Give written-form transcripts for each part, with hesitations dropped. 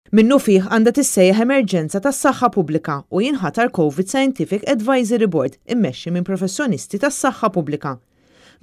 Minnufih għandha tissejjaħ emerġenza tas-saħħa pubblika u jinħatar Covid Scientific Advisory Board immexxi minn professjonisti tas-saħħa pubblika.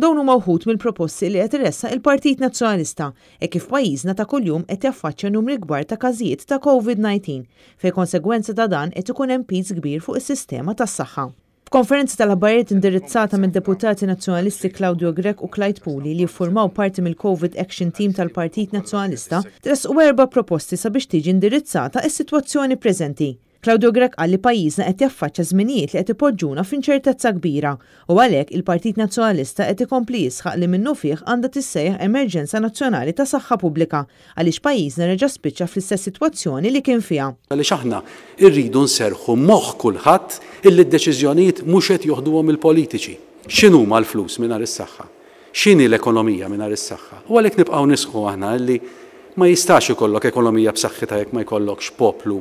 Dawn huma wħud mill-proposti li qed iressaq il-Partit Nazzjonalista hekk kif pajjiżna ta' kuljum qed jaffaċċja numri kbar ta' każijiet ta' Covid-19 fejn konsegwenza ta' dan qed ikun hemm piż kbir fuq is-sistema tas-saħħa. F'konferenza tal-aħbarijiet indirizzata mid-Deputati Nazzjonalisti Claudio Grech u Clyde Puli li jiffurmaw parti mill-Covid Action Team tal-Partit Nazzjonalista, tressqu erba' proposti sabiex tiġi indirizzata s-sitwazzjoni preżenti. Claudio Grech qal li pajjiżna qed jaffaċċja żminijiet li qed ipoġġuna f'inċertezza kbira u għalhekk il-Partit Nazzjonalista qed ikompli jisħaq li minnufih għandha tissejjaħ emerġenza nazzjonali ta' saħħa pubblika għaliex pajjiżna reġa' spiċċa fl-istess sitwazzjoni li kien fiha. Għaliex aħna rridu nserrħu moħħ kulħadd illi d-deċiżjonijiet mhux qed joħduhom il-politiċi. X'inhuma l-flus mingħajr is-saħħa? X'inhi l-ekonomija mingħajr is-saħħa? U għalhekk nibqgħu nisħqu aħna illi ma jistax ikollok ekonomija b'saħħitha jekk ma jkollokx poplu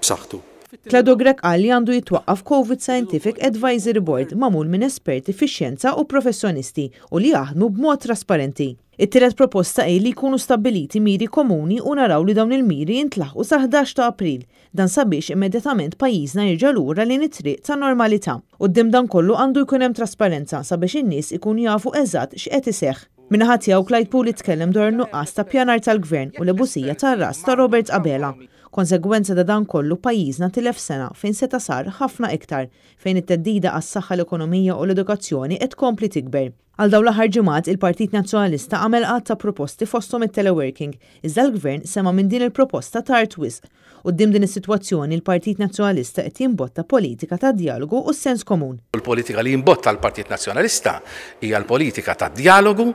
b'saħħtu. Claudio Grech qal li għandu jitwaqqaf Covid Scientific Advisory Board magħmul minn esperti fix-xjenza u professjonisti u li jaħdmu b'mod trasparenti. It-tielet proposta hi li jkunu stabbiliti miri komuni u naraw li dawn il-miri jintlaħqu sal-11 ta' April. Dan sabiex immedjatament pajjiżna jerġa' lura lejn it-triq tan-normalità. Quddiem dan kollu għandu jkun hemm trasparenza sabiex in-nies ikunu jafu eżatt x'qed iseħħ. Min-naħa tiegħu Clyde Puli tkellem dwar in-nuqqas ta' ppjanar tal-Gvern u l-ebusija tar-ras ta' Robert Abela. Konsegwenza ta' dan kollu pajjiżna tilef sena fejn seta' sar ħafna iktar, fejn it-theddida għas-saħħa, l-ekonomija u l-edukazzjoni qed tkompli tikber. Għal dawn l-aħħar ġimgħat, il-Partit Nazzjonalista għamel għadd ta' proposti fosthom it-teleworking, iżda l-Gvern sema' minn din il-proposta tard wisq. Quddiem din is-sitwazzjoni, il-Partit Nazzjonalista qed jimbotta politika ta' djalogu u s-sens komun. Il-politika li jimbotta l-Partit Nazzjonalista hija l-politika tad-djalogu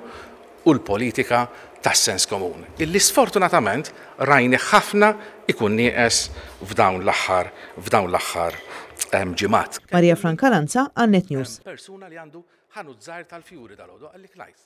u l-politika tas-sens komun, illi sfortunatament rajnih ħafna ikun nieqes f'dawn l-aħħar f'dawn l-aħħar ġimgħat. Maria Franca Lanza għal Net News. Ħanut żgħir tal-fjuri dalgħodu qalli Clyde.